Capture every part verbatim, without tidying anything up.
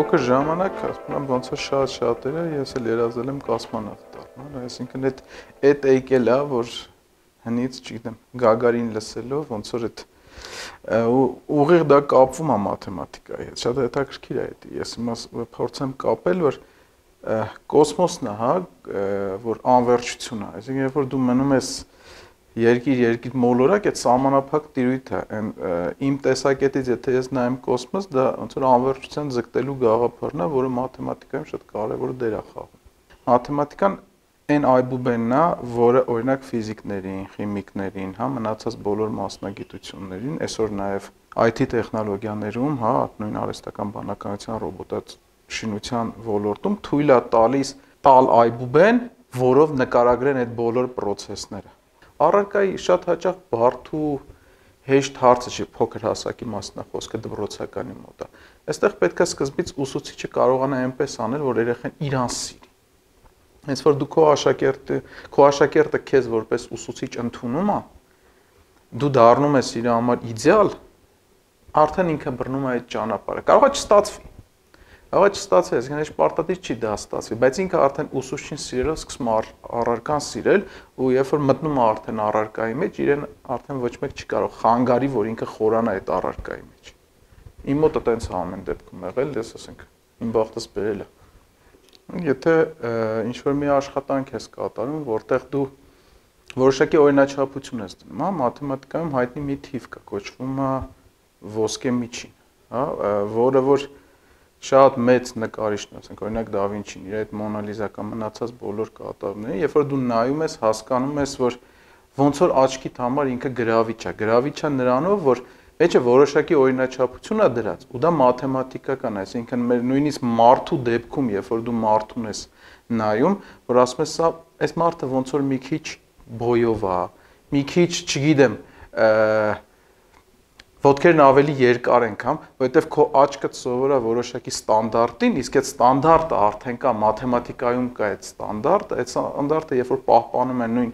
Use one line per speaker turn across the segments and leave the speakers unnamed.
փոքր ժամանակ, ասում եմ, ոնց որ շատ շատերը, ես էլ երազել եմ կոսմոնավտ դառնալ, այսինքն այդ այդ եկել է, որ հնից, չգիտեմ, Գագարին լսելով, ոնց որ այդ ուղիղ դա կապվում է մաթեմատիկայի հետ, շատ հետաքրքիր է դա, ես հիմա փորձեմ կապել, որ կոսմոսն է, հա, որ անվերջություն է, այսինքն երբ որ դու մնում ես երկիր, երկիր մոլորակ, այդ սահմանափակ տիրույթ է, իմ տեսակետից, եթե ես նայեմ կոսմոս, դա ոնց որ անվերջության ձգտելու գաղափարն է, որը մաթեմատիկայում շատ կարևոր դեր է խաղում։ Մաթեմատիկան այն այբուբենն է, որը օրինակ ֆիզիկներին, խիմիկներին, հա, մնացած բոլոր մասնագիտություններին, այսօր նաև այ թի տեխնոլոգիաներում, հա, նույն արհեստական բանականության, ռոբոտաշինության ոլորտում թույլ է տալիս տալ այբուբեն, որով նկարագրեն այդ բոլոր process-ները։ Առարկայի շատ հաճախ բարդ ու հեշտ հարցը չի, փոքր հասակի մասն է խոսքը դպրոցականի մոտ է։ Այստեղ պետք է սկզբից ուսուցիչը կարողանա այնպես անել, որ երեխան իրան սիրի։ Հենց որ դու քո աշակերտը, քո աշակերտը քեզ որպես ուսուցիչ ընդունում է, դու դառնում ես իր համար իդեալ, արդեն ինքը բռնում է այդ ճանապարհը։ Կարող է չստացվի։ Կարող է չստացվի, այսինքն այս պարտադիր չի դա ստացվի, բայց ինքը արդեն ուսուցչին սիրելով սկսում է առարկան սիրել ու երբ որ մտնում է արդեն առարկայի մեջ, իրեն արդեն ոչ մեկ չի կարող խանգարի, որ ինքը խորանա այդ առարկայի մեջ։ Իմ մոտ է տենց ամեն դեպքում եղել, ես ասենք, իմ բախտս բերել է։ Եթե ինչ-որ մի աշխատանք ես կատարում, որտեղ դու որոշակի օրինաչափություն ես դնում, հա, մաթեմատիկայում հայտնի մի թիվ կա, կոչվում է ոսկե միջին, հա, որը որ շատ մեծ նկարիչն է, ասենք օրինակ Դա Վինչին, իր այդ Մոնա Լիզա կամ մնացած բոլոր կատարումները, երբ որ դու նայում ես, հասկանում ես, որ ոնց որ աչքիդ համար ինքը գրավիչ է, գրավիչ է նրանով, որ մեջը որոշակի օրինաչափություն է դրած, ու դա մաթեմատիկական է, այսինքն մեր նույնիսկ մարդու դեպքում, երբ որ դու մարդուն ես նայում, որ ասում ես, սա այս մարդը ոնց որ մի քիչ բոյով է, մի քիչ, չգիտեմ, ոտքերն ավելի երկար են կամ, որովհետև քո աչքդ սովոր է որոշակի ստանդարտին, իսկ այդ ստանդարտը արդեն կա մաթեմատիկայում կա այդ ստանդարտը, այդ ստանդարտը երբ որ պահպանում են նույն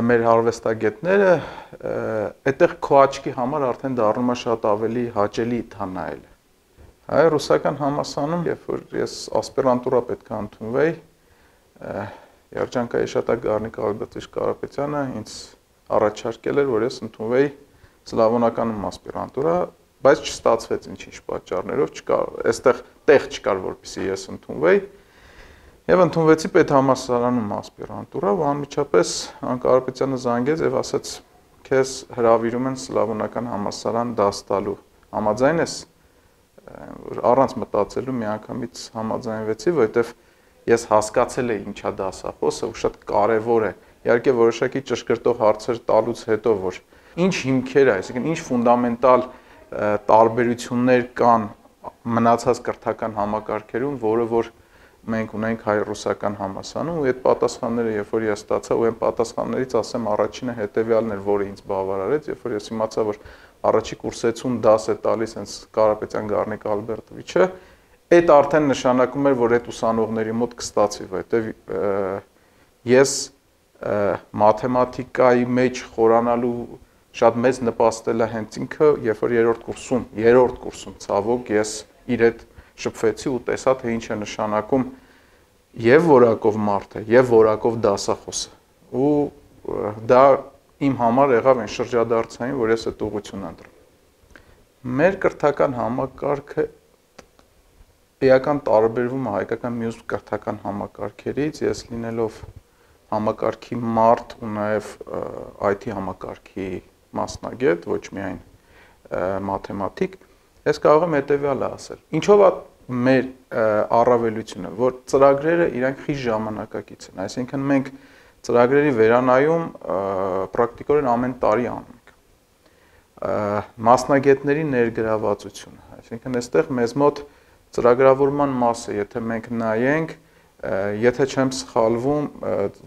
մեր արվեստագետները, այդտեղ քո աչքի համար արդեն դառնում է շատ ավելի հաճելի դա նայելը։ Հայ ռուսական համալսարանում, երբ որ ես ասպիրանտուրա պետք է ընդունվեի, երջանկայի շատ Գառնիկ Ալբերտովիչ Կարապետյանը ինձ առաջարկել էր, որ ես ընդունվեի սլավոնականում ասպիրանտուրա, բայց չստացվեց ինչ-ինչ պատճառներով, չկար, այստեղ տեղ չկար, որպեսզի ես ընդունվեի, եւ ընդունվեցի պետհամալսարանում ասպիրանտուրա, ու անմիջապես Կարապետյանը զանգեց եւ ասաց, քեզ հրավիրում են սլավոնական համալսարան դաս տալու, համաձայն ես, առանց մտածելու միանգամից համաձայնվեցի, որովհետեւ ես հասկացել էի ինչա դասախոսը, ու շատ կարեւոր է, իհարկե որոշակի ճշգրտող հարցեր տալուց հետո, որ ինչ հիմքեր է, այսինքն ինչ ֆունդամենտալ տարբերություններ կան մնացած կրթական համակարգերում, որը որ մենք ունենք հայ-ռուսական համալսարանում, ու այդ պատասխանները, երբ որ ես ստացա, ու այն պատասխաններից ասեմ առաջինը հետեւյալն էր, որը ինձ բավարարեց, երբ որ ես իմացա, որ առաջի կուրսեցում դաս է տալիս հենց Կարապետյան Գառնիկ Ալբերտովիչը, այդ արդեն նշանակում էր, որ այդ ուսանողների մոտ կստացվի, որովհետև ես մաթեմատիկայի մեջ խորանալու շատ մեծ նպաստել է հենց ինքը, երբ որ երրորդ կուրսում, երրորդ կուրսում ցավոք ես իր հետ շփվեցի ու տեսա, թե ինչ է նշանակում եւ որակով մարդը, եւ որակով դասախոսը։ Ու դա իմ համար եղավ այն շրջադարձային, որ ես այդ ուղղությունն ընտրում։ Մեր կրթական համակարգը էական տարբերվում է հայկական մյուս կրթական համակարգերից, ես լինելով համակարգի մարդ ու նաեւ այ թի համակարգի մասնագետ, ոչ միայն մաթեմատիկ, ես կարող եմ հետևյալը ասել։ Ինչով է մեր առավելությունը, որ ծրագրերը իրանք խիստ ժամանակակից են, այսինքն մենք ծրագրերի վերանայում պրակտիկորեն ամեն տարի անում ենք։ Մասնագետների ներգրավվածությունը, այսինքն այստեղ մեզ մոտ ծրագրավորման մասը, եթե մենք նայենք, եթե չեմ սխալվում,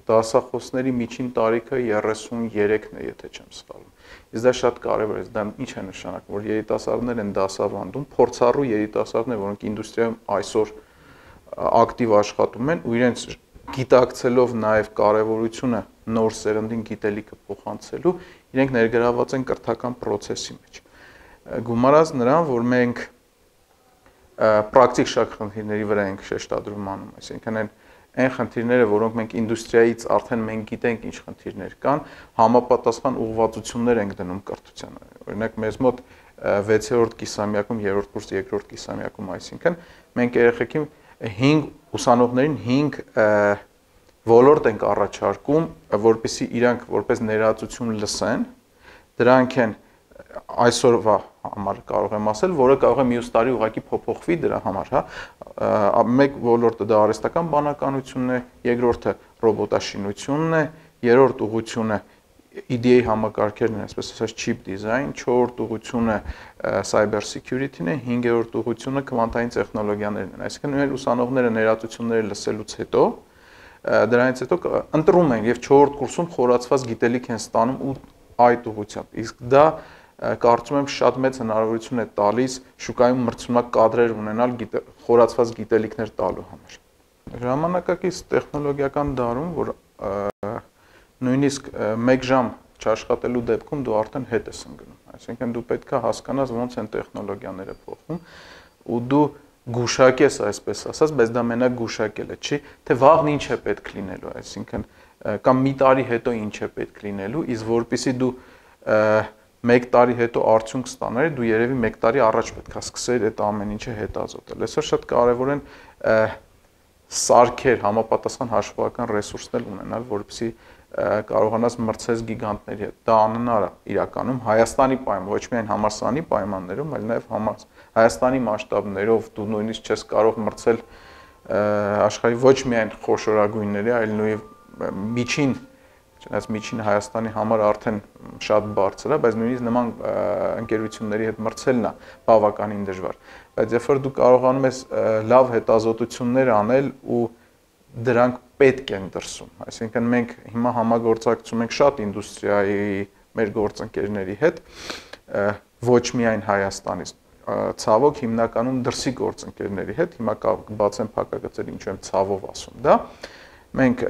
դասախոսների միջին տարիքը երեսուններեքն է, եթե չեմ սխալվում։ Իսկ դա շատ կարևոր է, դա ինչ է նշանակում, որ երիտասարդներ են դասավանդում, փորձառու երիտասարդներ, որոնք ինդուստրիայում այսօր ակտիվ աշխատում են ու իրենց գիտակցելով նաև կարևորությունը նոր սերնդին գիտելիքը փոխանցելու, իրենք ներգրաված են կրթական process-ի մեջ։ Գումարած նրան, որ մենք պրակտիկ շատ խնդիրների վրա ենք շեշտադրում անում, այսինքն այն այն խնդիրները, որոնք մենք ինդուստրիայից արդեն մենք գիտենք ինչ խնդիրներ կան, համապատասխան ուղղվածություններ ենք դնում կրթության։ Օրինակ մեզ մոտ վեցերորդ կիսամյակում, երրորդ կուրս, երկրորդ կիսամյակում, այսինքն մենք երեխեքին հինգ ուսանողներին հինգ ոլորտ ենք առաջարկում, որպեսզի իրանք որպես ներածություն լսեն, դրանք են այսօրվա համար կարող եմ ասել, որը կարող է մյուս տարի ուղղակի փոփոխվի դրա համար, հա, մեկ ոլորտը դա արհեստական բանականությունն է, երկրորդը ռոբոտաշինությունն է, երրորդ ուղղությունը E D A համակարգերն են, այսպես ասած chip design, չորրորդ ուղղությունը cyber security-ն է, հինգերորդ ուղղությունը քվանտային տեխնոլոգիաներն են։ Այսինքն մեր ուսանողները ներածությունները լսելուց հետո դրանից հետո ընտրում են եւ չորրորդ կուրսում խորացված գիտելիք են ստանում ու այդ ուղղությամբ։ Իսկ դա կարծում եմ շատ մեծ հնարավորություն է տալիս շուկայում մրցունակ կադրեր ունենալ խորացված գիտելիքներ տալու համար։ Ժամանակակից տեխնոլոգիական դարում, որ նույնիսկ մեկ ժամ չաշխատելու դեպքում դու արդեն հետ ես ընկնում։ Այսինքն դու պետք է հասկանաս ոնց են տեխնոլոգիաները փոխվում ու դու գուշակես, այսպես ասած, բայց դա մենակ գուշակելը չի, թե վաղն ինչ է պետք լինելու, այսինքն կամ մի տարի հետո ինչ է պետք լինելու, իսկ որpիսի դու մեկ տարի հետո արդյունք ստանալու, դու երևի մեկ տարի առաջ պետք է սկսել այդ ամեն ինչը հետազոտել։ Այսօր շատ կարևոր են սարքեր, համապատասխան հաշվողական ռեսուրսներ ունենալ, որպեսզի կարողանաս մրցես գիգանտների հետ։ Դա անհնար է իրականում Հայաստանի պայմաններում, ոչ միայն համալսարանի պայմաններում, այլ նաև Հայաստանի մասշտաբներով դու նույնիսկ չես կարող մրցել աշխարհի ոչ միայն խոշորագույնների, այլ նույն միջին, չնայած միջին Հայաստանի համար արդեն շատ բարձր է, բայց նույնիսկ նման ընկերությունների հետ մրցելն է բավականին դժվար։ Բայց երբ որ դու կարողանում ես լավ հետազոտություններ անել ու դրանք պետք են դրսում, այսինքն մենք հիմա համագործակցում ենք շատ ինդուստրիայի մեր գործընկերների հետ, ոչ միայն Հայաստանից, ցավոք հիմնականում դրսի գործընկերների հետ, հիմա կբացեմ փակագծեր, ինչու եմ ցավով ասում դա, մենք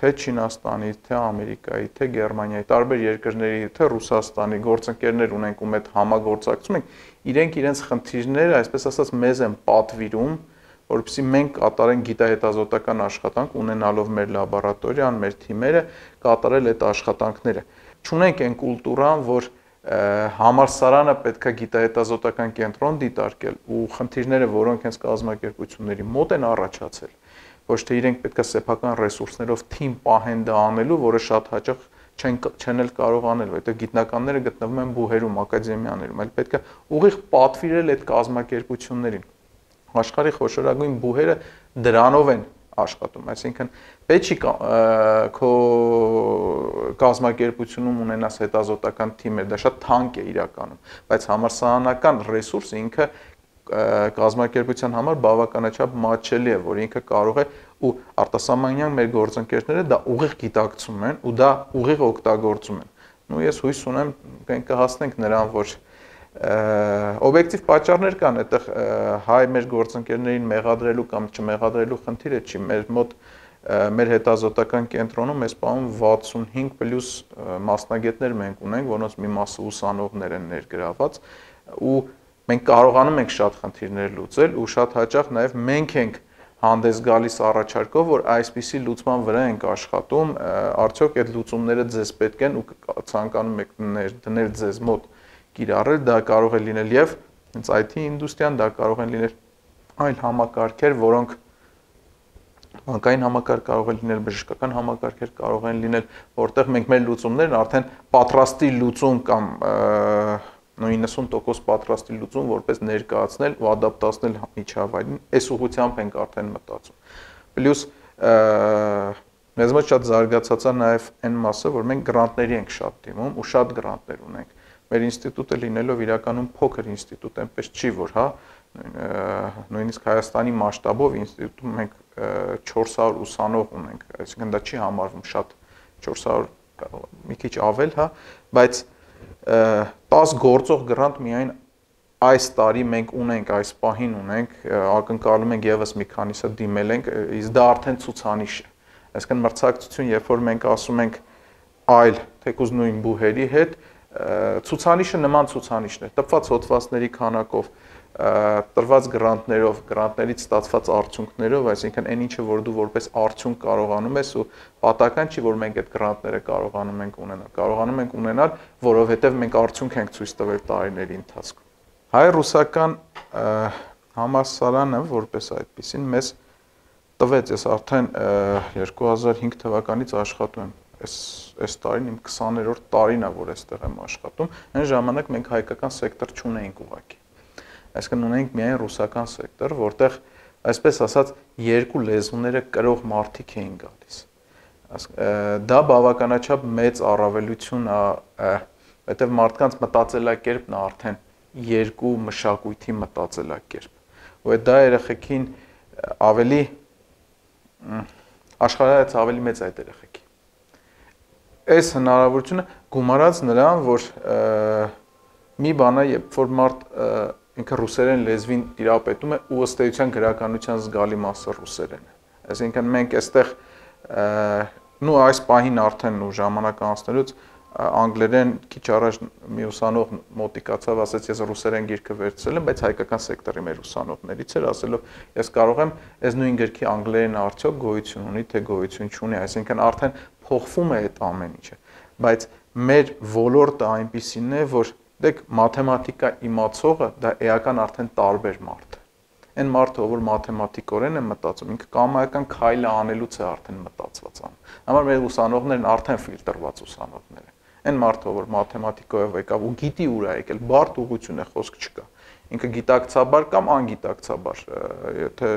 թե Չինաստանի, թե Ամերիկայի, թե Գերմանիայի, տարբեր երկրների, թե Ռուսաստանի գործընկերներ ունենք, ում հետ համագործակցում ենք, իրենք իրենց խնդիրները, այսպես ասած, մեզ են պատվիրում, որպեսզի մենք կատարենք գիտահետազոտական աշխատանք, ունենալով մեր լաբորատորիան, մեր թիմերը, կատարել այդ աշխատանքները։ Չունենք այն կուլտուրան, որ համալսարանը պետք է գիտահետազոտական կենտրոն դիտարկել ու խնդիրները, որոնք հենց կազմակերպությունների մոտ են առաջացել, ոչ թե իրենք պետք է սեփական ռեսուրսներով թիմ պահեն դա անելու, որը շատ հաճախ չեն չեն էլ կարող անել, որովհետև գիտնականները գտնվում են բուհերում, ակադեմիաներում, այլ պետք է ուղիղ պատվիրել այդ կազմակերպություններին։ Աշխարհի խոշորագույն բուհերը դրանով են աշխատում, այսինքն պետք չի քո կազմակերպությունում ունենաս հետազոտական թիմեր, դա շատ թանկ է իրականում, բայց համալսարանական ռեսուրսը ինքը կազմակերպության համար բավականաչափ մատչելի է, որ ինքը կարող է ու արտասահմանյան մեր գործընկերները դա ուղիղ գիտակցում են ու դա ուղիղ օգտագործում են։ Ու ես հույս ունեմ կհասնենք նրան, որ օբյեկտիվ պատճառներ կան, այդտեղ հայ մեր գործընկերներին մեղադրելու կամ չմեղադրելու խնդիրը չի, մեր մոտ մեր հետազոտական կենտրոնում այս պահում վաթսունհինգ պլյուս մասնագետներ մենք ունենք, որոնց մի մասը ուսանողներ են ներգրաված ու մենք կարողանում ենք շատ խնդիրներ լուծել ու շատ հաճախ նաև մենք ենք հանդես գալիս առաջարկով, որ այսպիսի լուծման վրա ենք աշխատում, արդյոք այդ լուծումները ձեզ պետք են ու ցանկանում եք դնել ձեզ մոտ կիրառել, դա կարող է լինել եւ հենց I T ինդուստրիան, դա կարող են լինել այլ համակարգեր, որոնք բանկային համակարգ կարող է լինել, բժշկական համակարգեր կարող են լինել, որտեղ մենք մեր լուծումներն արդեն պատրաստի լուծում կամ նույնսուն տոկոս պատրաստի լուծում որպես ներկայացնել ու ադապտացնել միջավայրին, այս ուղղությամբ ենք արդեն մտածում։ Պլյուս մեզ մոտ շատ զարգացած է նաև այն մասը, որ մենք գրանտների ենք շատ դիմում ու շատ գրանտներ ունենք։ Մեր ինստիտուտը լինելով իրականում փոքր ինստիտուտ, այնպես չի, որ հա նույնիսկ Հայաստանի մասշտաբով ինստիտուտում մենք չորս հարյուր ուսանող ունենք, այսինքն դա չի համարվում շատ, չորս հարյուր մի քիչ ավել, հա, բայց տաս գործող գրանտ միայն այս տարի մենք ունենք, այս պահին ունենք, ակնկալում ենք եւս մի քանիսը դիմել ենք, իսկ դա արդեն ցուցանիշ է։ Այսինքն մրցակցություն, երբ որ մենք ասում ենք այլ թեկուզ նույն բուհերի հետ, ցուցանիշը նման ցուցանիշներ, տպված հոդվածների քանակով, տրված գրանտներով, գրանտներից ստացված արդյունքներով, այսինքն այն ինչը որ դու որպես արդյունք կարողանում ես ու պատահական չի որ մենք այդ գրանտները կարողանում ենք ունենալ, կարողանում ենք ունենալ, որովհետև մենք արդյունք ենք ցույց տվել տարիների ընթացքում։ Հայ-ռուսական համալսարանը որպես այդպեսին մեզ տվեց, ես արդեն երկու հազար հինգ թվականից աշխատում եմ, այս այս տարին իմ քսաներորդ տարին է, որ այստեղ եմ աշխատում, այն ժամանակ մենք հայկական սեկտոր չունեինք ուղղակի։ Այսինքն ունենք միայն ռուսական սեկտոր, որտեղ այսպես ասած երկու լեզուները կրող մարդիկ էին գալիս։ Դա բավականաչափ մեծ առավելություն է, որտեղ մարդկանց մտածելակերպն է արդեն երկու մշակույթի մտածելակերպ։ Ու դա երեխեքին ավելի աշխարհից ավելի մեծ այդ երեխեքի։ Այս հնարավորությունը գումարած նրան, որ մի բան է, երբ որ մարդ ինքը ռուսերեն լեզվին տիրապետում է ու ըստ էության գրականության զգալի մասը ռուսերեն է։ Այսինքն մենք այստեղ նու այս պահին արդեն ու ժամանակ անցնելուց անգլերեն քիչ առաջ մի ուսանող մոտիկացավ, ասաց ես ռուսերեն գիրքը վերցրել եմ, բայց հայկական սեկտորի մեր ուսանողներից էր, ասելով ես կարող եմ այս նույն գրքի անգլերեն արդյոք գոյություն ունի, թե գոյություն չունի, այսինքն արդեն փոխվում է այդ ամեն ինչը, բայց մեր ոլորտը այնպիսին է, որ դեք մաթեմատիկա իմացողը դա էական արդեն տարբեր մարդ է։ Այն մարդը, որ մաթեմատիկորեն է մտածում, ինքը կամայական քայլը անելուց է արդեն մտածված անում։ Համար մեր ուսանողներն արդեն ֆիլտրված ուսանողներ են։ Այն մարդը, որ մաթեմատիկայով եկավ ու գիտի ուր է եկել, բարդ ուղղություն է, խոսք չկա։ Ինքը գիտակցաբար կամ անգիտակցաբար, եթե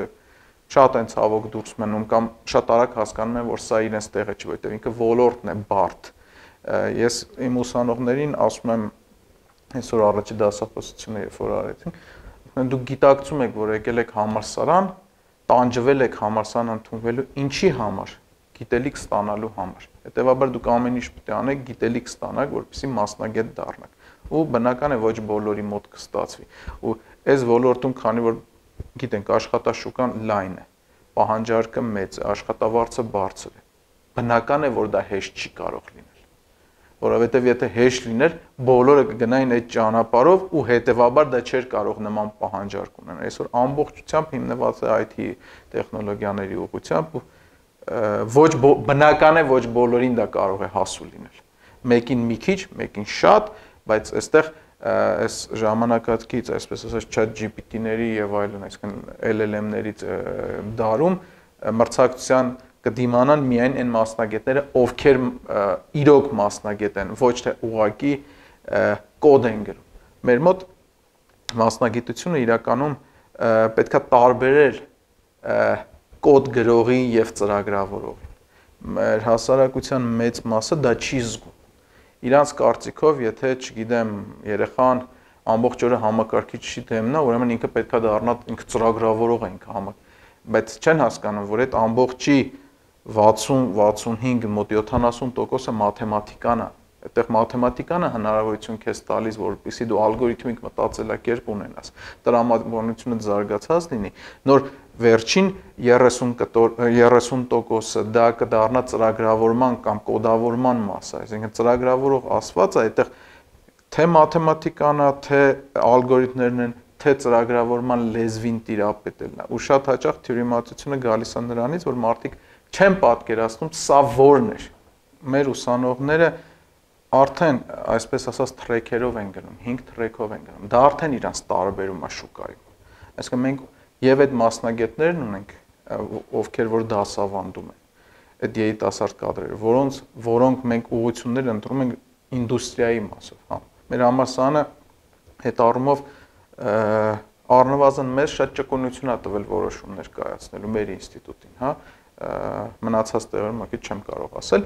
շատ են ցավոք դուրս մնում կամ շատ արագ հասկանում են, որ սա իրենց տեղը չի, որտեղ ինքը ոլորտն է բարդ։ Ես իմ ուսանողներին ասում եմ այսօր առաջի դասախոսությունը երբ որ արեցինք, դուք գիտակցում եք, որ եկել եք համալսարան, տանջվել եք համալսարան ընդունվելու ինչի համար, գիտելիք ստանալու համար։ Հետևաբար դուք ամեն ինչ պետք է անեք գիտելիք ստանաք, որպեսզի մասնագետ դառնաք։ Ու բնական է ոչ բոլորի մոտ կստացվի։ Ու այս ոլորտում, քանի որ գիտենք, աշխատաշուկան լայն է, պահանջարկը մեծ է, աշխատավարձը բարձր է։ Բնական է, որ դա հեշտ չի կարող լինել։ Որովհետև եթե հեշտ լիներ, բոլորը կգնային այդ ճանապարհով ու հետևաբար դա չէր կարող նման պահանջարկ ունենալ։ Այսօր ամբողջությամբ հիմնված է այ թի տեխնոլոգիաների ուղղությամբ ու ոչ բնական է ոչ բոլորին դա կարող է հասու լինել։ Մեկին մի քիչ, մեկին շատ, բայց այստեղ այս ժամանակակից, այսպես ասած, chat G P T-ների եւ այլն, այսինքն L L M-ներից դարում մրցակցության կդիմանան միայն այն մասնագետները, ովքեր իրոք մասնագետ են, ոչ թե ուղղակի կոդ են գրում։ Մեր մոտ մասնագիտությունը իրականում պետքա տարբերել կոդ գրողի եւ ծրագրավորողի։ Մեր հասարակության մեծ մասը դա չի զգում։ Իրանց կարծիքով, եթե, չգիտեմ, երեխան ամբողջ օրը համակարգիչ չի դեմնա, ուրեմն ինքը պետքա դառնա ինքը ծրագրավորող է ինքը համակ, բայց չեն հասկանում, որ այդ ամբողջի վաթսուն վաթսունհինգ մոտ յոթանասուն տոկոսը մաթեմատիկան է։ Այդտեղ մաթեմատիկան է հնարավորություն քեզ տալիս, որպեսզի դու ալգորիթմիկ մտածելակերպ ունենաս, տրամաբանությունը զարգացած լինի, նոր վերջին երեսուն տոկոսը դա կդառնա ծրագրավորման կամ կոդավորման մասը, այսինքն ծրագրավորող ասվածը այդտեղ թե մաթեմատիկան է, թե ալգորիթմներն են, թե ծրագրավորման լեզվին տիրապետելն է։ Ու շատ հաճախ թյուրիմացությունը գալիս է նրանից, որ մարդիկ չեն պատկերացնում սա որն է։ Մեր ուսանողները արդեն, այսպես ասած, թրեքերով են գնում, հինգ թրեքով են գնում։ Դա արդեն իրանց տարբերում է շուկայում։ Այսինքն մենք եւ այդ մասնագետներն ունենք, ովքեր որ դասավանդում են, այդ երիտասարդ կադրերը, որոնց որոնք մենք ուղղություններ ընտրում ենք ինդուստրիայի մասով, հա։ Մեր համալսարանը այդ առումով առնվազն մեզ շատ ճկունություն է տվել որոշումներ կայացնելու մեր ինստիտուտին, հա։ Մնացած տեղերում ակի չեմ կարող ասել,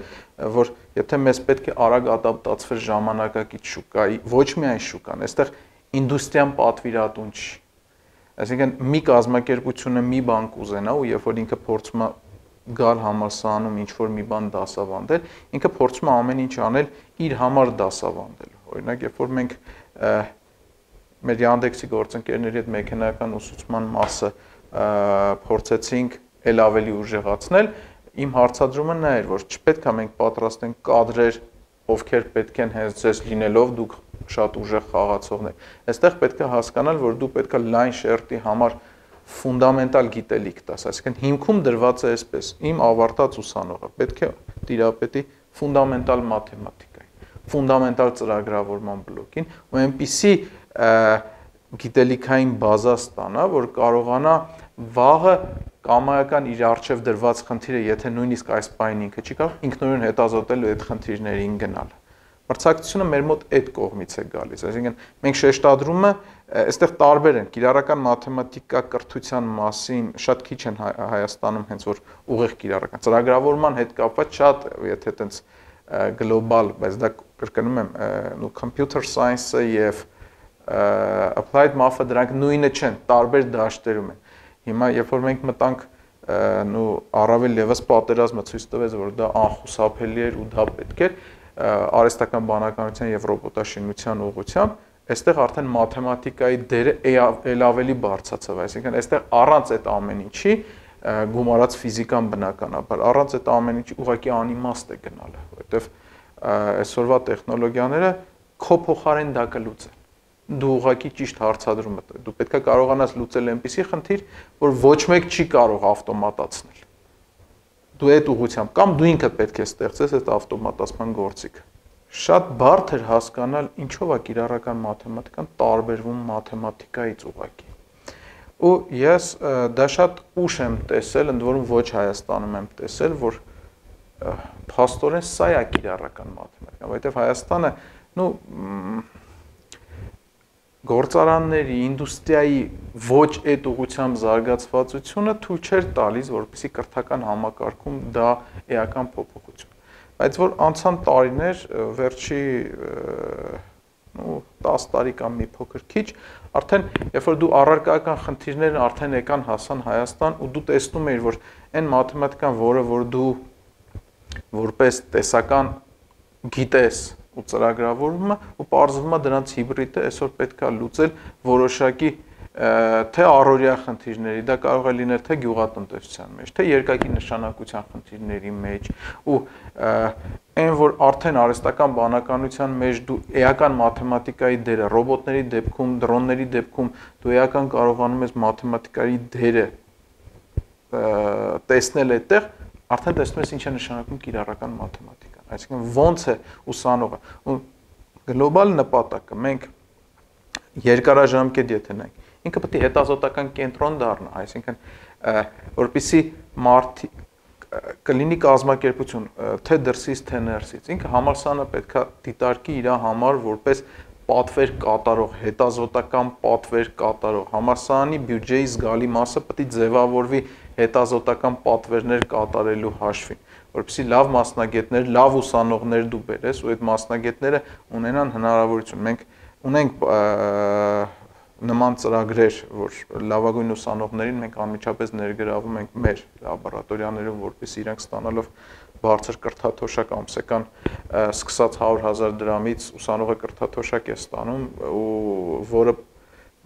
որ եթե մեզ պետք է արագ ադապտացվել ժամանակակից շուկայի, ոչ միայն շուկան, այստեղ ինդուստրիան պատվիրատուն չի։ Այսինքն մի կազմակերպությունը մի բան կուզենա ու երբ որ ինքը փորձում է գալ համալսարանում ինչ-որ մի բան դասավանդել, ինքը փորձում է ամեն ինչ անել իր համար դասավանդելու։ Օրինակ, երբ որ մենք մեր Yandex-ի գործընկերների հետ մեքենայական ուսուցման մասը փորձեցինք էլ ավելի ուժեղացնել, իմ հարցադրումը նա էր, որ չպետք է մենք պատրաստենք կադրեր, ովքեր պետք են հենց ձեզ լինելով դուք շատ ուժեղ խաղացողներ։ Այստեղ պետք է հասկանալ, որ դու պետք է լայն շերտի համար ֆունդամենտալ գիտելիք տաս, այսինքն հիմքում դրված է այսպես. իմ ավարտած ուսանողը պետք է տիրապետի ֆունդամենտալ մաթեմատիկային, ֆունդամենտալ ծրագրավորման բլոկին, ու այնպիսի գիտելիքային բազա ստանա, որ կարողանա վաղը կամայական իր առջև դրված խնդիրը, եթե նույնիսկ այս պայն ինքը չի կարող, ինքնուրույն հետազոտել ու այդ խնդիրներին գնալ։ Մրցակցությունը մեր մոտ այդ կողմից է գալիս, այսինքն մենք շեշտադրումը այստեղ տարբեր են, կիրառական մաթեմատիկա կրթության մասին շատ քիչ են Հայաստանում հենց որ ուղիղ կիրառական, ծրագրավորման հետ կապված շատ, եթե այտենց գլոբալ, բայց դա կրկնում եմ, նու computer science-ը եւ applied math-ը դրանք նույնը չեն, տարբեր դաշտերում են։ Հիմա երբ որ մենք մտանք նու առավել եւս պատերազմը ցույց տվեց, որ դա անխուսափելի էր ու դա պետք էր արհեստական բանականության եւ ռոբոտաշինության ուղղությամբ, այստեղ արդեն մաթեմատիկայի դերը ել ավելի բարձրացավ, այսինքն այստեղ առանց այդ ամեն ինչի գումարած ֆիզիկան բնականաբար, առանց այդ ամեն ինչի ուղղակի անիմաստ է գնալը, որովհետեւ այսօրվա տեխնոլոգիաները քո փոխարեն դա կլուծեն։ Դու ուղղակի ճիշտ հարցադրում ես, դու պետք է կարողանաս լուծել այնպիսի խնդիր, որ ոչ մեկ չի կարող ավտոմատացնել։ Դու այդ ուղղությամբ կամ դու ինքդ պետք է ստեղծես այդ ավտոմատացման գործիքը։ Շատ բարդ էր հասկանալ ինչով է կիրառական մաթեմատիկան տարբերվում մաթեմատիկայից ուղղակի։ Ու ես դա շատ ուշ եմ տեսել, ընդ որում ոչ Հայաստանում եմ տեսել, որ փաստորեն սա է կիրառական մաթեմատիկան, որովհետև Հայաստանը, նու գործարանների, ինդուստրիայի ոչ այդ ուղղությամբ զարգացվածությունը թույլ չէր տալիս, որպեսզի կրթական համակարգում դա էական փոփոխություն։ Բայց որ անցան տարիներ, վերջի տասը տարի կամ մի փոքր քիչ, արդեն երբ որ դու առարկայական խնդիրներն արդեն եկան հասան Հայաստան ու դու տեսնում ես, որ այն մաթեմատիկան, որը որ դու որպես տեսական գիտես ու ծրագրավորումը ու պարզվում է դրանց հիբրիդը այսօր պետք է լուծել որոշակի թե առօրյա խնդիրների, դա կարող է լինել թե գյուղատնտեսության մեջ, թե երկակի նշանակության խնդիրների մեջ ու այն որ արդեն արհեստական բանականության մեջ դու էական մաթեմատիկայի դերը, ռոբոտների դեպքում, դրոնների դեպքում դու էական կարողանում ես մաթեմատիկայի դերը տեսնել այդտեղ, արդեն տեսնում ես ինչ է նշանակում կիրառական մաթեմատիկան, այսինքն ոնց է ուսանողը ու գլոբալ նպատակը մենք երկարաժամկետ եթե նայենք, ինքը պետք է հետազոտական կենտրոն դառնա, այսինքն որպեսզի մարդ կլինի կազմակերպություն, թե դրսից, թե ներսից, ինքը համալսարանը պետք է դիտարկի իր համար որպես պատվեր կատարող, հետազոտական պատվեր կատարող, համալսարանի բյուջեի զգալի մասը պետք է ձևավորվի հետազոտական պատվերներ կատարելու հաշվին, որպեսզի լավ մասնագետներ, լավ ուսանողներ դու բերես ու այդ մասնագետները ունենան հնարավորություն։ Մենք ունենք նման ծրագրեր, որ լավագույն ուսանողներին մենք անմիջապես ներգրավում ենք մեր լաբորատորիաներում, որպեսզի իրենք ստանալով բարձր կրթաթոշակ ամսական սկսած հարյուր հազար դրամից ուսանողը կրթաթոշակ է ստանում ու որը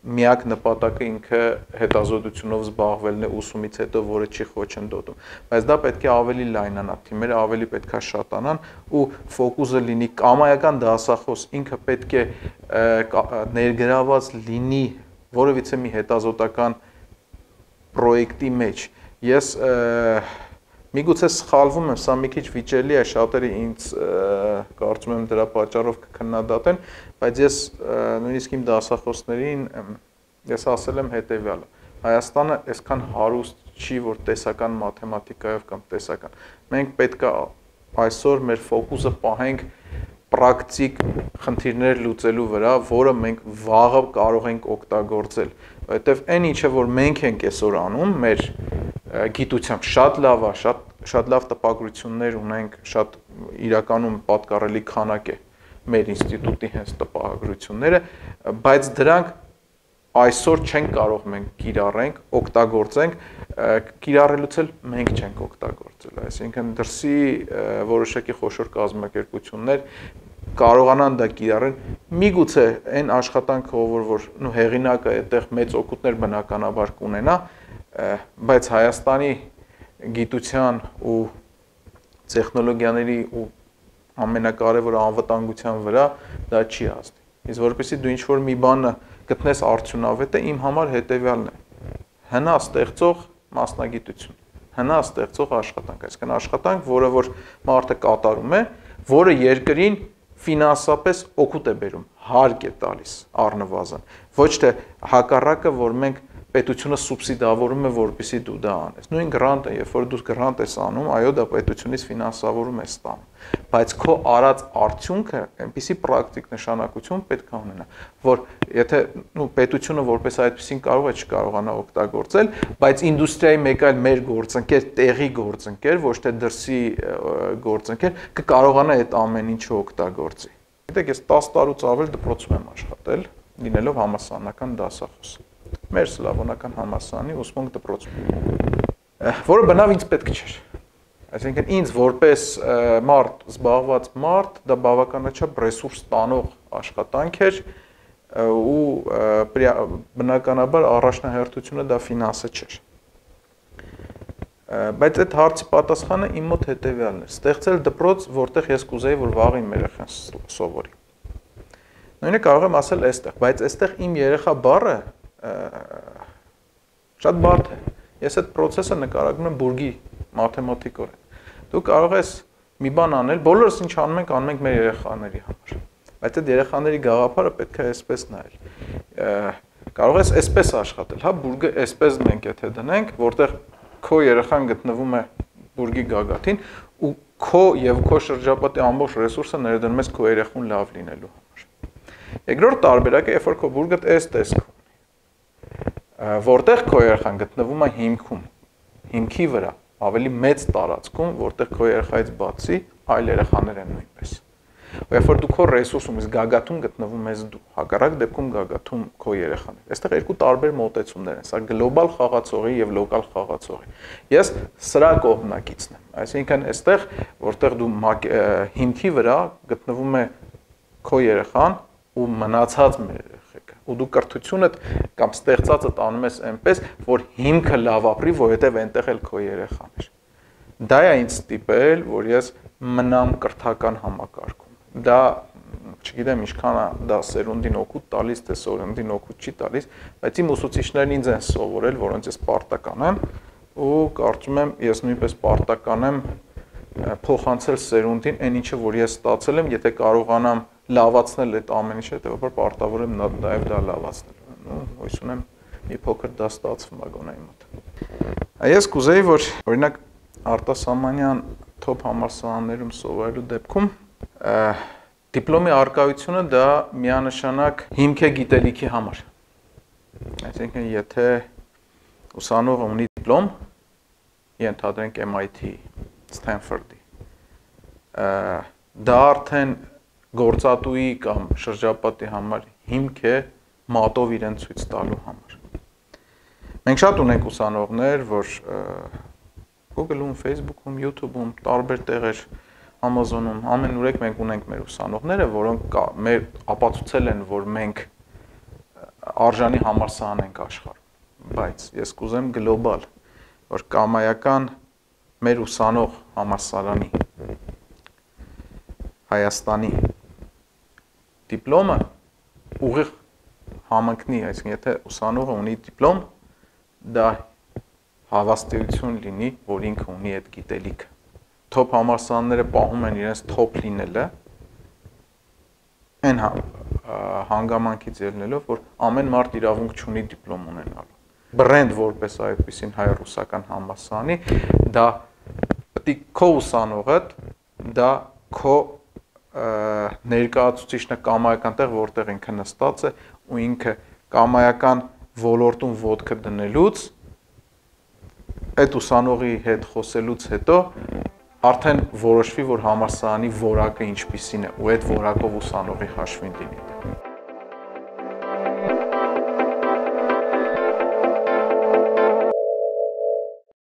միակ նպատակը ինքը հետազոտությունով զբաղվելն է ուսումից հետո, որը չի խոչընդոտում, բայց դա պետք է ավելի լայնանա, թիմերը ավելի պետք է շատանան ու ֆոկուսը լինի կամայական դասախոս, ինքը պետք է ներգրաված լինի որևիցե մի հետազոտական պրոյեկտի մեջ։ Ես միգուցե սխալվում եմ, սա մի քիչ վիճելի է, շատերը ինձ կարծում եմ դրա պատճառով կքննադատեն, բայց ես նույնիսկ իմ դասախոսներին ես ասել եմ հետևյալը. Հայաստանը այսքան հարուստ չի, որ տեսական մաթեմատիկայով կամ տեսական։ Մենք պետք է այսօր մեր ֆոկուսը պահենք պրակտիկ խնդիրներ լուծելու վրա, որը մենք վաղը կարող ենք օգտագործել, որովհետև այն ինչը որ մենք ենք այսօր անում, մեր գիտությամբ շատ լավ է, շատ շատ լավ տպագրություններ ունենք, շատ իրականում պատկառելի քանակ է մեր ինստիտուտի հենց տպագրությունները, բայց դրանք այսօր չենք կարող մենք կիրառենք, օգտագործենք, կիրառելուց էլ մենք չենք օգտագործել, այսինքն դրսի որոշակի խոշոր կազմակերպություններ կարողանան դա կիրառեն, միգուցե այն աշխատանքը, որ որ նո հեղինակը այդտեղ մեծ օգուտներ բնականաբար կունենա, բայց Հայաստանի գիտության ու տեխնոլոգիաների ու ամենակարևորը անվտանգության վրա դա չի ազդի։ Իսկ որպեսզի դու ինչ-որ մի բանը գտնես արդյունավետ է, իմ համար հետևյալն է. հնա ստեղծող մասնագիտություն, հնա ստեղծող աշխատանք, այսինքն աշխատանք, որը որ մարդը կատարում է, որը երկրին ֆինանսապես օգուտ է բերում, հարկ է տալիս առնվազն, ոչ թե հակառակը, որ մենք պետությունը սուբսիդավորում է, որպեսզի դու դա անես։ Նույն գրանտը, երբ որ դու գրանտ ես անում, այո, դա պետությունից ֆինանսավորում ես ստանում, բայց քո արած արդյունքը այնպիսի պրակտիկ նշանակություն պետք է ունենա, որ եթե նու պետությունը որպես այդպեսին կարող է չկարողանա օգտագործել, բայց ինդուստրիայի մեկ այլ մեր գործընկեր, տեղի գործընկեր, ոչ թե դրսի գործընկեր, կկարողանա այդ ամեն ինչը օգտագործի։ Գիտեք, ես տասը տարուց ավել դպրոցում եմ աշխատել, լինելով համալսարանական դասախոս։ Մեր սլավոնական համալսարանի ուսմունք դպրոցում, որը բնավ ինձ պետք չէր։ Այսինքն ինձ որպես մարդ, զբաղված մարդ, դա բավականաչափ ռեսուրս տանող աշխատանք էր ու բնականաբար առաջնահերթությունը դա ֆինանսը չէր։ Բայց այդ հարցի պատասխանը իմ մոտ հետևյալն էր. ստեղծել դպրոց, որտեղ ես կուզեի, որ վաղ իմ երեխան սովորի։ Նույնը կարող եմ ասել այստեղ, բայց այստեղ իմ երեխա բառը շատ բարդ է։ Ես այդ process-ը նկարագրում եմ բուրգի մաթեմատիկորեն։ Դու կարող ես մի բան անել, բոլորս ինչ անում ենք, անում ենք մեր երեխաների համար։ Բայց այդ երեխաների գաղափարը պետք է այսպես նայել։ Կարող ես այսպես աշխատել, հա, բուրգը այսպես մենք եթե դնենք, որտեղ քո երեխան գտնվում է բուրգի գագաթին ու քո եւ քո շրջապատի ամբողջ ռեսուրսը ներդնում ես քո երեխուն լավ լինելու համար։ Երկրորդ տարբերակը, երբ որ քո բուրգը այս տեսք որտեղ քո երեխան գտնվում է հիմքում, հիմքի վրա, ավելի մեծ տարածքում, որտեղ քո երեխայից բացի այլ երեխաներ են նույնպես։ Երբ որ դու քո ռեսուրսում ես գագաթում գտնվում ես դու, հակառակ դեպքում գագաթում քո երեխան է։ Այստեղ երկու տարբեր մոտեցումներ են, սա գլոբալ խաղացողի եւ լոկալ խաղացողի։ Ես սրա կողմնակիցն եմ։ Այսինքն այստեղ, որտեղ դու հիմքի վրա գտնվում է քո երեխան ու մնացած մեր ու դու կրթությունդ կամ ստեղծածդ անում ես այնպես, որ հիմքը լավ ապրի, որովհետև այնտեղ էլ քո երեխան էր։ Դա է ինձ ստիպել, որ ես մնամ կրթական համակարգում։ Դա, չգիտեմ, ինչքան է դա սերունդին օգուտ տալիս, թե սերունդին օգուտ չի տալիս, բայց իմ ուսուցիչներն ինձ են սովորել, որոնց ես պարտական եմ, ու կարծում եմ, ես նույնպես պարտական եմ փոխանցել սերունդին այն ինչը, որ ես ստացել եմ, եթե կարողանամ լավացնել այդ ամեն ինչը, հետևաբար պարտավոր եմ նաև դա լավացնել։ Հույս ունեմ մի փոքր դա ստացվում է գոնե իմ մոտ։ Ես կուզեի, որ օրինակ արտասահմանյան թոփ համալսարաններում սովորելու դեպքում դիպլոմի առկայությունը դա միանշանակ հիմք է գիտելիքի համար։ Այսինքն եթե ուսանողը ունի դիպլոմ, ենթադրենք M I T, Stanford-ի, դա արդեն գործատուի կամ շրջապատի համար հիմք է մատով իրեն ցույց տալու համար։ Մենք շատ ունենք ուսանողներ, որ Google-ում, Facebook-ում, YouTube-ում, տարբեր տեղեր, Amazon-ում, ամենուրեք մենք ունենք մեր ուսանողները, որոնք մեր ապացուցել են, որ մենք արժանի համալսարան ենք աշխարհում, բայց ես կուզեմ գլոբալ, որ կամայական մեր ուսանող համալսարանի Հայաստանի դիպլոմը ուղիղ համընկնի, այսինքն եթե ուսանողը ունի դիպլոմ, դա հավաստիություն լինի, որ ինքը ունի այդ գիտելիքը։ Թոփ համալսարանները պահում են իրենց թոփ լինելը, այն հանգամանքից ելնելով, որ ամեն մարդ իրավունք չունի դիպլոմ ունենալու։ Բրենդ որպես այդպիսին հայ-ռուսական համալսարանի, դա պետք է քո ուսանողդ, դա քո ներկայացուցիչն է կամայական տեղ, որտեղ ինքը նստած է ու ինքը կամայական ոլորտում ոտքը դնելուց, այդ ուսանողի հետ խոսելուց հետո արդեն որոշվի, որ համալսարանի որակը ինչպիսին է ու այդ որակով ուսանողի հաշվին լինի։